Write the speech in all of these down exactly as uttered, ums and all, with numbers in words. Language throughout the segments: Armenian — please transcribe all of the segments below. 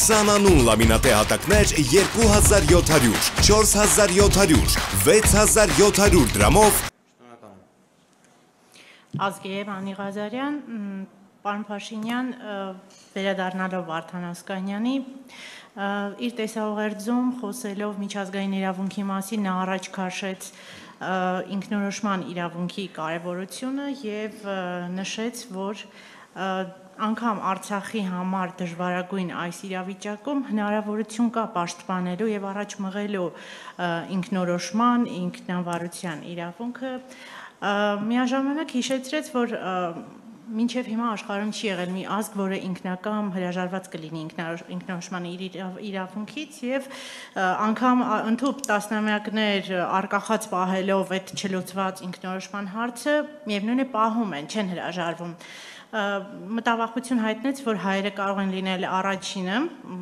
քսանանուն լամինատե հատակներ երկու հազար յոթ հարյուր, չորս հազար յոթ հարյուր, վեց հազար յոթ հարյուր դրամով։ Ազգեև Անի Ղազարյան, պարոն Փաշինյան, վերադառնալով Վարդան Ասկանյանի, իր տեսահողերձում խոսելով միջազգային իրավունքի մասին նա առաջ քաշեց ինքնորոշման իրավունքի կարևորությունը և նշեց, որ անգամ Արցախի համար դժվարագույն այս իրավիճակում հնարավորություն կա պաշտպանելու և առաջ մղելու ինքնորոշման, ինքնավարության իրավունքը, միաժամանակ հիշեցրեց, որ մինչև հիմա աշխարհում չի եղել մի ազգ, որը ինքնակամ հրաժարված կլինի ինքնորոշման իրավունքից և անգամ ընդհուպ տասնամյակներ արկախած պահելով այդ չլուծված ինքնորոշման հարցը, միևնույն է պահում են, չեն հրաժարվում։ Մտավախություն հայտնեց, որ հայերը կարող են լինել առաջինը,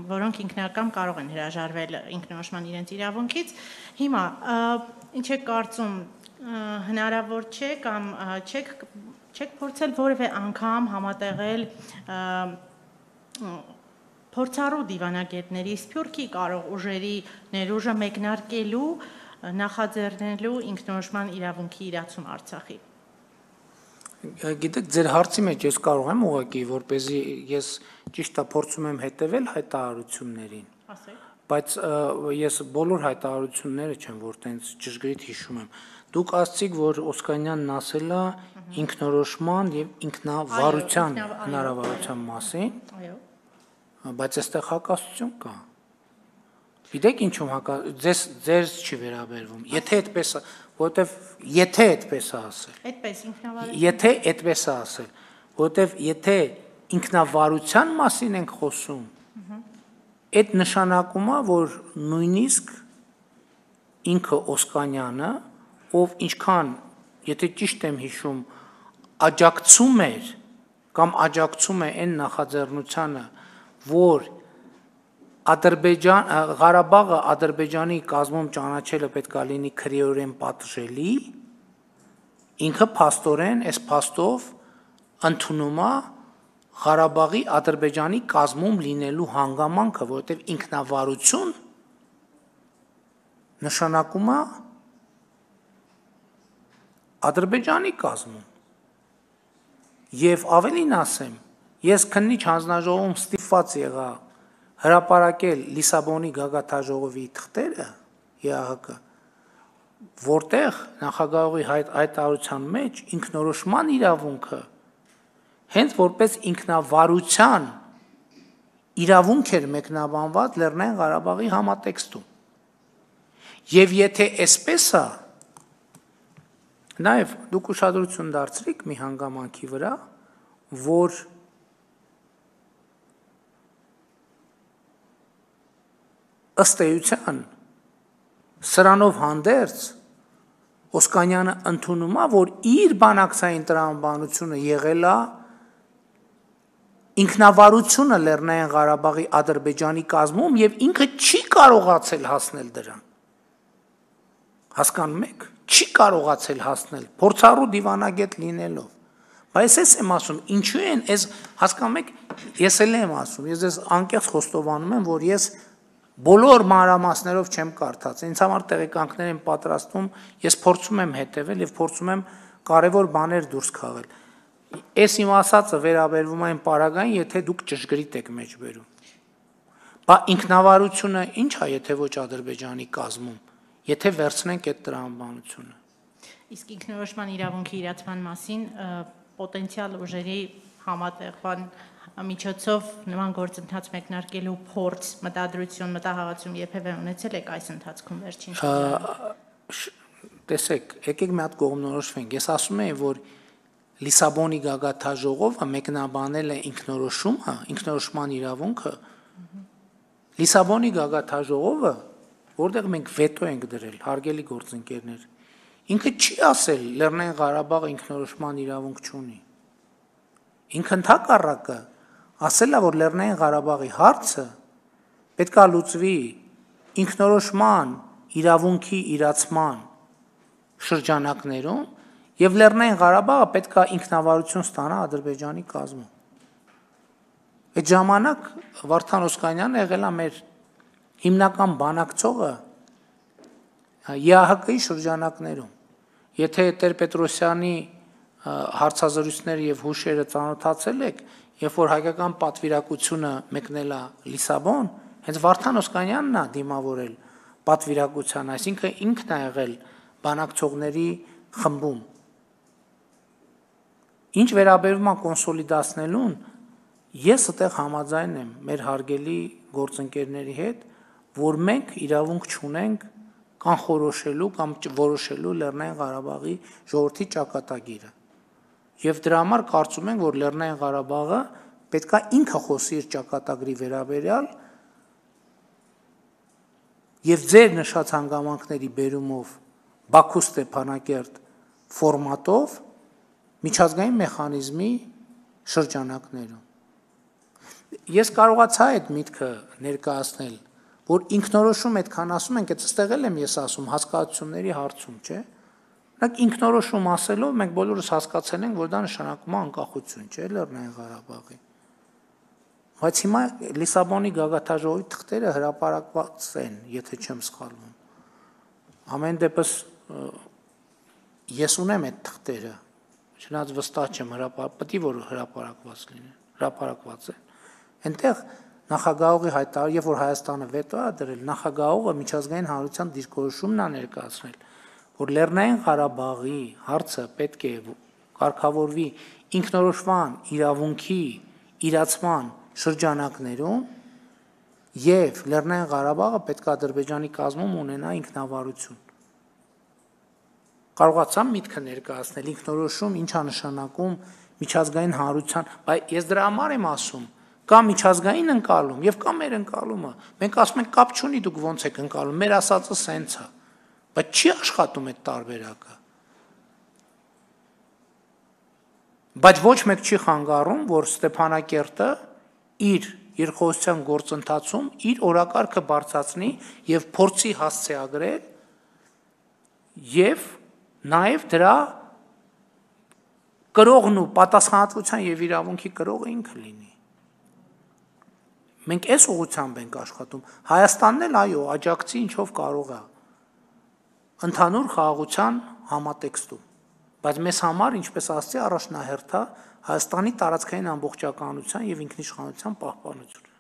որոնք ինքնակամ կարող են հրաժարվել ինքնորոշման իրենց իրավունքից։ Հիմա, ինչ եք կարծում, հնարավոր չէ կամ չեք փորձել որևէ անգամ համատեղել փորձառու դիվանագետների սփյուռքի կարող ուժերի ներուժը մեկնարկելու, նախաձեռնելու ինքնորոշման իրավունքի իրացում Արցախի։ Գիտեք, ձեր հարցի մեջ ես կարող եմ ուղղակի, որպեսզի ես ճիշտ է փորձում եմ հետևել հայտարարություններին, բայց ես բոլոր հայտարարությունները չեմ, որ տենց ճշգրիտ հիշում եմ։ Դուք ասացիք, որ Օսկանյանն ասել է ինքնորոշման եւ ինքնավարության հնարավորության մասին, բայց այստեղ հակասություն կա։ Գիտեք ինչու՞մ հակասություն, ձեզ չի վերաբերվում։ Եթե այդպես, որովհետեւ եթե այդպես է ասել։ Այդպես ինքնավարություն։ Եթե այդպես է ասել, որովհետեւ եթե ինքնավարության մասին ենք խոսում, այդ նշանակում է, որ նույնիսկ ինքը Օսկանյանը, ով ինչքան, եթե ճիշտ եմ հիշում, աջակցում էր կամ աջակցում է այն նախաձեռնությանը, որ Ադրբեջան Ղարաբաղը Ադրբեջանի կազմում ճանաչելը պետք է լինի քրեորեն պատժելի, ինքը փաստորեն այս փաստով ընդունում է Ղարաբաղի Ադրբեջանի կազմում լինելու հանգամանքը, որովհետև ինքնավարություն նշանակում է Ադրբեջանի կազմում։ Եվ ավելին ասեմ, ես քննիչ հանձնաժողովում ստիպված եղա հրապարակել Լիսաբոնի գագաթնաժողովի թղթերը ԵԱՀԿ, որտեղ նախագահողի հայտարարության մեջ ինքնորոշման իրավունքը հենց որպես ինքնավարության իրավունք էր մեկնաբանված Լեռնային Ղարաբաղի համատեքստում։ Եվ եթե այսպես է, նաև դուք ուշադրություն դարձրիք մի հանգամանքի վրա, որ ըստ էության սրանով հանդերձ Օսկանյանը ընդունում է, որ իր բանակցային տրամաբանությունը եղել է ինքնավարությունը Լեռնային Ղարաբաղի Ադրբեջանի կազմում եւ ինքը չի կարողացել հասնել դրան։ Հասկանում եք, չի կարողացել հասնել փորձառու դիվանագետ լինելով։ Բայց ես եմ ասում, ինչու են այս հասկանում եք, ես էլ եմ ասում, ես ես անկեղծ խոստովանում եմ, որ ես բոլոր մանրամասներով չեմ կարդաց, ինձ համար տեղեկանքներ եմ պատրաստում, ես փորձում եմ հետևել եւ փորձում եմ կարեւոր բաներ դուրս քաղել։ Այս իմ ասածը վերաբերվում է այն պարագային, եթե դուք ճշգրիտ եք մեջ բերում։ Բա ինքնավարությունը ի՞նչ է, եթե ոչ Ադրբեջանի կազմում, եթե վերցնենք այդ տրամաբանությունը։ Իսկ ինքնորոշման իրավունքի իրացման մասին պոտենցիալ ուժերի համատեղման միջոցով նման գործընթաց մեկնարկելու փորձ, մտադրություն, մտահղացում երբևէ ունեցել եք այս ընթացքում վերջին շրջանում։ Տեսեք, եկեք մի հատ կողմնորոշվենք։ Ես ասում եմ, որ Լիսաբոնի գագաթնաժողովը մեկնաբանել է ինքնորոշումը, ինքնորոշման իրավունքը։ Լիսաբոնի գագաթնաժողովը, որտեղ մենք վետո ենք դրել, հարգելի գործընկերներ, ինքը չի ասել Լեռնային Ղարաբաղը ինքնորոշման իրավունք չունի։ Ինքը ընդհակառակը ասել է, որ Լեռնային Ղարաբաղի հարցը պետք է լուծվի ինքնորոշման իրավունքի իրացման շրջանակներում եւ Լեռնային Ղարաբաղը պետք է ինքնավարություն ստանա Ադրբեջանի կազմում։ Այդ ժամանակ Վարդան Օսկանյանը եղել է մեր հիմնական բանակցողը Ե Ահ Կի շրջանակներում։ Եթե Տեր-Պետրոսյանի հարցազրույցները եւ հուշերը ծանոթացել եք, երբ որ հայկական պատվիրակությունը մեկնել է Լիսաբոն, հենց Վարդան Օսկանյանն է դիմավորել պատվիրակության, այսինքն ինքն է եղել բանակցողների խմբում։ Ինչ վերաբերում է կոնսոլիդացնելուն, ես այդտեղ համաձայն եմ մեր հարգելի գործընկերների հետ, որ մենք իրավունք չունենք կանխորոշելու կամ որոշելու Լեռնային Ղարաբաղի ժողովրդի ճակատագիրը։ Եվ դրա համար կարծում ենք, որ Լեռնային Ղարաբաղը պետք է ինքը խոսի իր ճակատագրի վերաբերյալ եւ ձեր նշած հանգամանքների բերումով Բաքու Ստեփանակերտ ֆորմատով միջազգային մեխանիզմի շրջանակներում։ Ես կարողացա այդ միտքը ներկայացնել, որ ինքնորոշում այդքան ասում ենք, այդ ստեղ եմ ես ասում հասկացությունների հարցում, չէ՞։ Նրանք ինքնորոշում ասելով մենք բոլորս հասկացել ենք, որ դա նշանակում է անկախություն, չէ՞, Լեռնային Ղարաբաղի։ Բայց հիմա Լիսաբոնի գագաթաժողովի թղթերը հրապարակված են, եթե չեմ սխալվում։ Ամեն դեպս ես ունեմ այդ թղթերը, չնայած վստահ չեմ հրապարակ, պետք է որ հրապարակված լինեն, հրապարակված են։ Այնտեղ նախագահողի հայտարարել, երբ որ Հայաստանը վետո է դրել, նախագահողը միջազգային հանրության դիրքորոշումն է ներկայացնել, որ Լեռնային Ղարաբաղի հարցը պետք է կարգավորվի ինքնորոշման իրավունքի իրացման շրջանակներում եւ Լեռնային Ղարաբաղը պետք է Ադրբեջանի կազմում ունենա ինքնավարություն։ Կարողացամ միտքը ներկայացնել ինքնորոշում ինչա նշանակում միջազգային հանրության, բայց ես դրա համար եմ ասում, կա միջազգային ընկալում եւ կա մեր ընկալումը։ Մենք ասում ենք կապ չունի դուք ոնց եք ընկալում, մեր ասածը սենց է, բայց չի աշխատում այդ տարբերակը։ Բայց ոչ մեկ չի խանգարում, որ Ստեփանակերտը իր երկխոսության գործընթացում իր օրակարգը բարձրացնի եւ փորձի հասցեագրել եւ նաեւ դրա կրողն ու պատասխանատվության եւ իրավունքի կրողը ինքը լինի։ Մենք այս ուղղությամբ ենք աշխատում։ Հայաստանն էլ այո, աջակցի ինչով կարող է ընդհանուր խաղաղության համատեքստում, բայց մեզ համար, ինչպես ասացի, առաջնահերթ է Հայաստանի տարածքային ամբողջականության եւ ինքնիշխանության պահպանությունը։